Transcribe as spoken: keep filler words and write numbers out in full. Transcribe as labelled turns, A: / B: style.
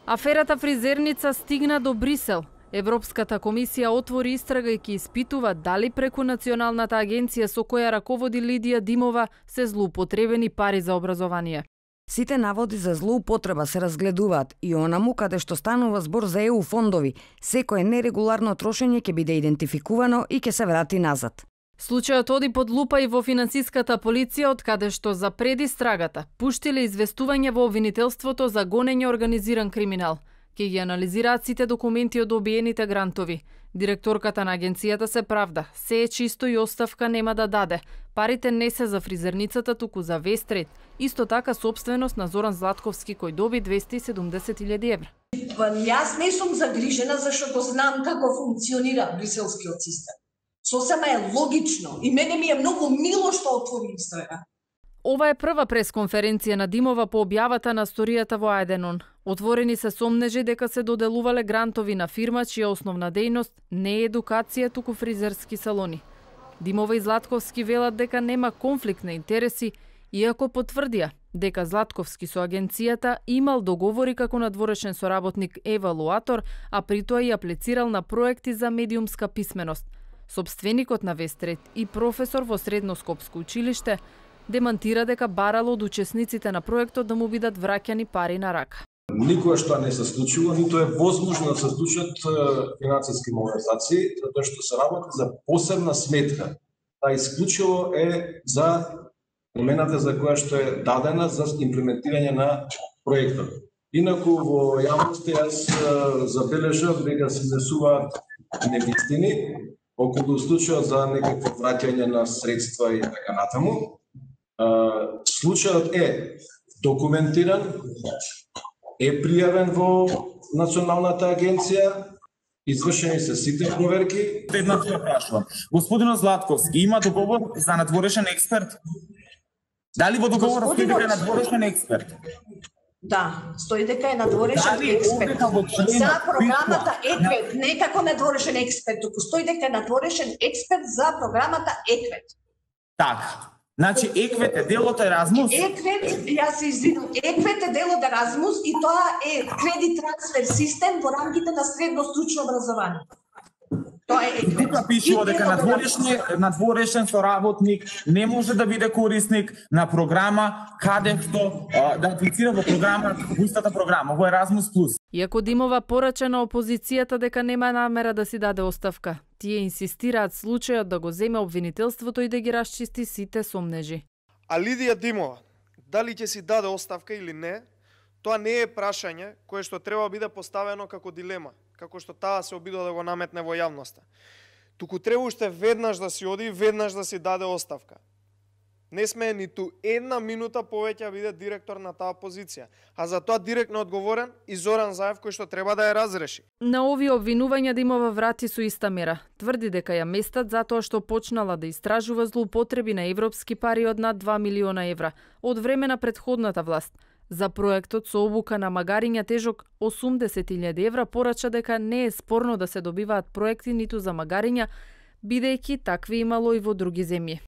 A: Аферата фризерница стигна до Брисел. Европската комисија отвори истрага и ќе испитува дали преку Националната агенција со која раководи Лидија Димова се злоупотребени пари за образование.
B: Сите наводи за злоупотреба се разгледуваат и онаму каде што станува збор за Е У фондови, секое нерегуларно трошење ќе биде идентификувано и ќе се врати назад.
A: Случајот оди под лупа и во финансиската полиција, од каде што за предистрагата пуштиле известување во обвинителството за гонење организиран криминал. Ке ги анализираат сите документи од добиените грантови. Директорката на агенцијата се правда, се е чисто и оставка нема да даде. Парите не се за фризерницата, туку за Вестрейт. Исто така собственост на Зоран Златковски кој доби двесте и седумдесет илјади евра.
C: Јас не сум загрижена зашто знам како функционира бриселскиот систем. Сосема е логично и мене ми е многу мило што отвори истрага.
A: Ова е прва пресконференција на Димова по објавата на сторијата во Ајденон. Отворени се сомнежи дека се доделувале грантови на фирма чија основна дејност не е едукација, туку фризерски салони. Димова и Златковски велат дека нема конфликт на интереси, иако потврдија дека Златковски со агенцијата имал договори како надворешен соработник евалуатор, а при тоа и аплицирал на проекти за медиумска писменост. Собственикот на Вестрейт и професор во Средноскопско училиште демантира дека барал од учесниците на проектот да му бидат враќани пари на рака.
D: Никоја што не се случило, ниту е возможно да се случат финансиски малверзации, затоа што се работи за посебна сметка. Та исклучиво е за намената за која што е дадена за имплементирање на проектот. Инаку во јавноста јас забележав дека се изнесуваат невистини околу случајот за некакво враќање на средства и така натаму. Случајот е документиран, е пријавен во Националната агенција, извршени се сите проверки.
E: Една што прашувам. Господинот Златковски има договор за надворешен експерт? Дали во договорот стои дека е надворешен експерт?
C: Да, стои дека е надворешен експерт. За програмата ЕКВЕТ, не како надворешен експерт, туку стои дека е надворешен експерт за програмата ЕКВЕТ.
E: Така. Значи ЕКВЕТ е дел од Еразмус?
C: ЕКВЕТ, јас се извинувам, ЕКВЕТ е дел од Еразмус и тоа е кредит трансфер систем во рамките на средно стручно образование. Тоа е ЕКВЕТ.
E: Тука пишува дека надворешен, надворешен соработник не може да биде корисник на програма каде што да аплицира во програма, во истата програма, во Еразмус плюс.
A: Иако Димова порача на опозицијата дека нема намера да си даде оставка, тие инсистираат случајот да го земе обвинителството и да ги расчисти сите сомнежи.
F: А Лидија Димова, дали ќе си даде оставка или не, тоа не е прашање кое што треба биде поставено како дилема, како што таа се обидува да го наметне во јавноста. Туку треба уште веднаш да си оди, веднаш да си даде оставка. Не сме ниту една минута повеќе да биде директор на таа позиција, а за тоа директно одговорен и Зоран Заев кој што треба да ја разреши.
A: На овие обвинувања Димова врати со иста мера. Тврди дека ја местат затоа што почнала да истражува злоупотреби на европски пари од над два милиона евра од време на претходната власт. За проектот со обука на магариња тежок осумдесет илјади евра порача дека не е спорно да се добиваат проекти ниту за магариња, бидејќи такви имало и во други земји.